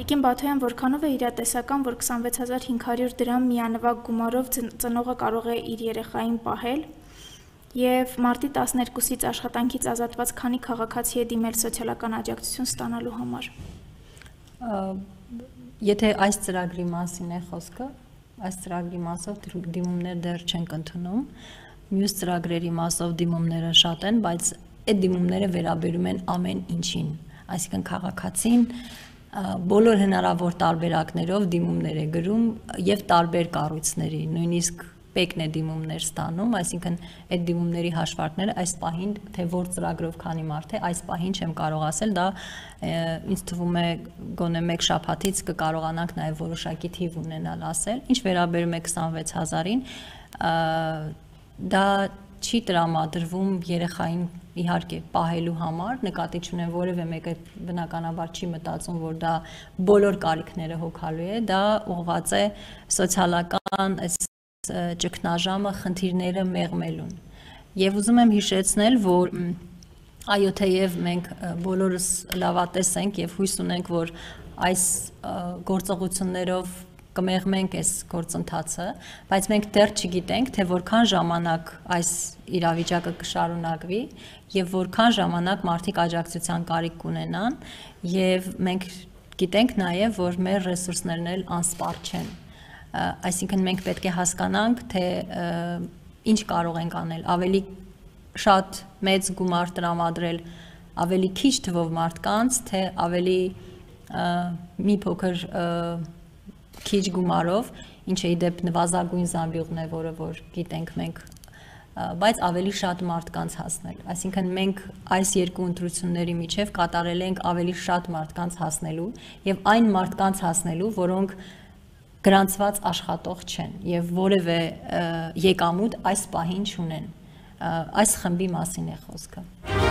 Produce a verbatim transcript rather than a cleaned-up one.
Տիկին Բաթոյան, որքանով է իրատեսական, որ քսանվեց հազար հինգ հարյուր դրամ միանվագ գումարով ծնողը կարող է իր երեխային պահել, եւ մարտի տասներկուսից աշխատանքից ազատված քանի քաղաքացի է դիմել սոցիալական աջակցություն ստանալու համար։ Եթե այս ծրագրի մասին է խոսքը, այս ծրագրի մասով դիմումներ դեռ չենք ընդունում, մյուս ծրագրերի մասով դիմումները շատ են, բայց այդ դիմումները վերաբերում են ամեն ինչին, այսինքն քաղաքացին բոլոր հնարավոր տարբերակներով դիմումներ է գրում եւ տարբեր կառույցների, նույնիսկ պեկն է դիմումներ ստանում, այսինքն այդ դիմումների հաշվարկները այս պահին, թե որ ծրագրով քանի մարդ է, այս պահին չեմ կարող ասել, դա ինձ թվում է գոնե մեկ շաբաթից կկարողանանք նաեւ որոշակի թիվ ունենալ ասել, ինչ վերաբերում է քսանվեց հազարին, դա չի տրամադրվում երեխային իհարկե պահելու համար, նկատի չունեմ որևէ մեկը բնականաբար չի մտածում, որ դա բոլոր կարիքները հոգալու է, դա ուղղված է սոցիալական այս ճգնաժամը խնդիրները մեղմելուն։ Եվ ուզում եմ հիշեցնել, որ այո, թեև մենք բոլորս լավատես ենք եւ հույս ունենք, որ այս գործողություններով կմեղմենք այս գործընթացը, բայց մենք դեռ չգիտենք, թե որքան ժամանակ այս իրավիճակը կշարունակվի եւ որքան ժամանակ մարդիկ աջակցության կարիք կունենան եւ մենք գիտենք նաեւ, որ մեր ռեսուրսներն էլ անսպառ չեն։ Այսինքն մենք պետք է հասկանանք, թե ինչ կարող ենք անել, ավելի շատ մեծ գումար տրամադրել ավելի քիչ թվով մարդկանց, թե ավելի մի փոքր քիչ գումարով, ինչը իդեպ նվազագույն զամբյուղն է, որը որ գիտենք մենք, բայց ավելի շատ մարդկանց հասնել։ Այսինքն մենք այս երկու ընտրությունների միջև կատարել ենք ավելի շատ մարդկանց հասնելու եւ այն մարդկանց հասնելու, որոնք գրանցված աշխատող չեն եւ որևէ եկամուտ այս պահին չունեն։ Այս խմբի մասին է խոսքը։